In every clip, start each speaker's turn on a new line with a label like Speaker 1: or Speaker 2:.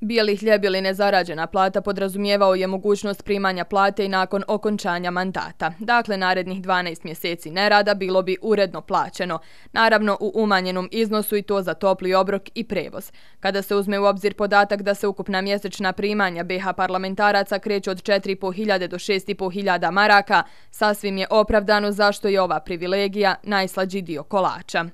Speaker 1: Bijeli hljeb ili nezarađena plata podrazumijevao je mogućnost primanja plate i nakon okončanja mandata. Dakle, narednih 12 mjeseci nerada bilo bi uredno plaćeno. Naravno, u umanjenom iznosu i to za topli obrok i prevoz. Kada se uzme u obzir podatak da se ukupna mjesečna primanja BiH parlamentaraca kreću od 4.500 do 6.500 maraka, sasvim je opravdano zašto je ova privilegija najslađi dio kolača.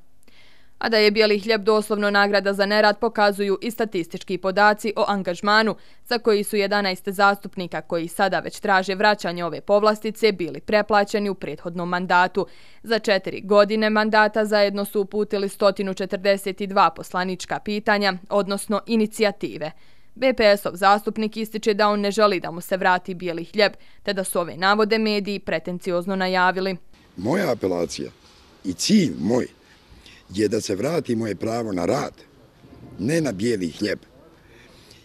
Speaker 1: A da je bijeli hljeb doslovno nagrada za nerad pokazuju i statistički podaci o angažmanu za koji su 11 zastupnika koji sada već traže vraćanje ove povlastice bili preplaćeni u prethodnom mandatu. Za 4 godine mandata zajedno su uputili 142 poslanička pitanja, odnosno inicijative. BPS-ov zastupnik ističe da on ne želi da mu se vrati bijeli hljeb, te da su ove navode mediji pretenciozno najavili.
Speaker 2: Moja apelacija i cilj moj je da se vrati moje pravo na rad, ne na bijeli hljeb.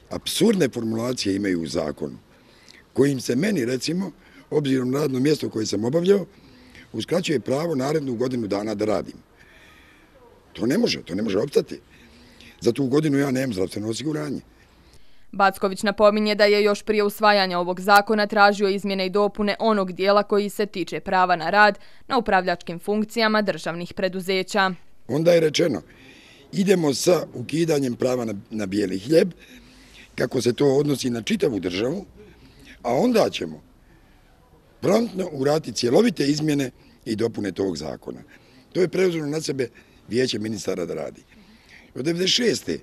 Speaker 2: Apsurdne formulacije imaju u zakonu, kojim se meni, recimo, obzirom na radno mjesto koje sam obavljao, uskraćuje pravo narednu godinu dana da radim. To ne može opstati. Za tu godinu ja nemam zdravstveno osiguranje.
Speaker 1: Backović napominje da je još prije usvajanja ovog zakona tražio izmjene i dopune onog dijela koji se tiče prava na rad na upravljačkim funkcijama državnih preduzeća.
Speaker 2: Onda je rečeno, idemo sa ukidanjem prava na bijeli hljeb, kako se to odnosi na čitavu državu, a onda ćemo promptno uraditi cjelovite izmjene i dopune tog zakona. To je preuzelo na sebe Vijeće ministara da radi. Od 1996.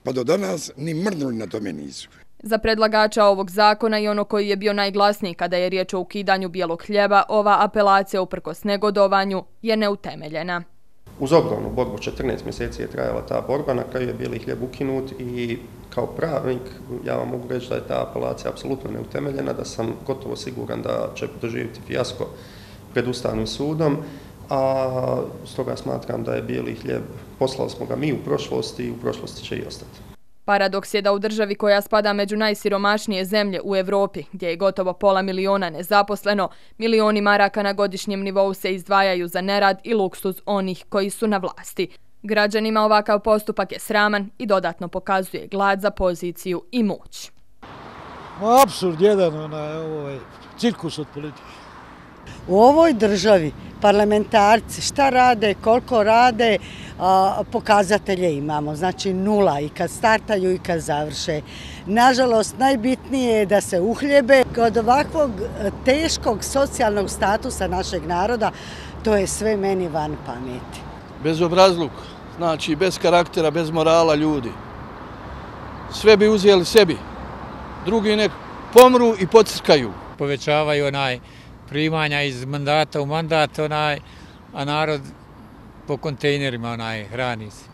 Speaker 2: pa do danas ni mrdnuli na tome nisu.
Speaker 1: Za predlagača ovog zakona i ono koji je bio najglasniji kada je riječ o ukidanju bijelog hljeba, ova apelacija uprkos negodovanju je neutemeljena.
Speaker 3: Uz ogromnu borbu 14 mjeseci je trajala ta borba, na kraju je bijeli hljeb ukinut i kao pravnik ja vam mogu reći da je ta apelacija apsolutno neutemeljena, da sam gotovo siguran da će doživjeti fijasko pred Ustavnim sudom, a stoga smatram da je bijeli hljeb, poslali smo ga mi u prošlosti i u prošlosti će i ostati.
Speaker 1: Paradoks je da u državi koja spada među najsiromašnije zemlje u Evropi, gdje je gotovo 500.000 nezaposleno, milioni maraka na godišnjem nivou se izdvajaju za nerad i luksuz onih koji su na vlasti. Građanima ovakav postupak je sraman i dodatno pokazuje glad za poziciju i moć.
Speaker 4: Apsurd jedan, cirkus od politike.
Speaker 5: U ovoj državi parlamentarci šta rade, koliko rade, pokazatelje imamo, znači nula i kad startaju i kad završe. Nažalost, najbitnije je da se uhljebe. Kod ovakvog teškog socijalnog statusa našeg naroda, to je sve meni van pameti.
Speaker 4: Bezobrazluk, znači bez karaktera, bez morala ljudi. Sve bi uzeli sebi, drugi nek pomru i pocrkaju.
Speaker 6: Povećavaju primanja iz mandata u mandat, a narod po kontejnerima hrani se.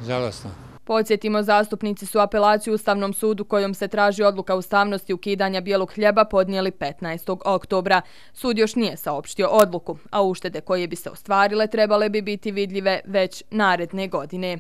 Speaker 6: Žalosno.
Speaker 1: Podsjetimo, zastupnici su apelaciju Ustavnom sudu kojom se traži odluka ustavnosti ukidanja bijelog hljeba podnijeli 15. oktobra. Sud još nije saopštio odluku, a uštede koje bi se ostvarile trebale bi biti vidljive već naredne godine.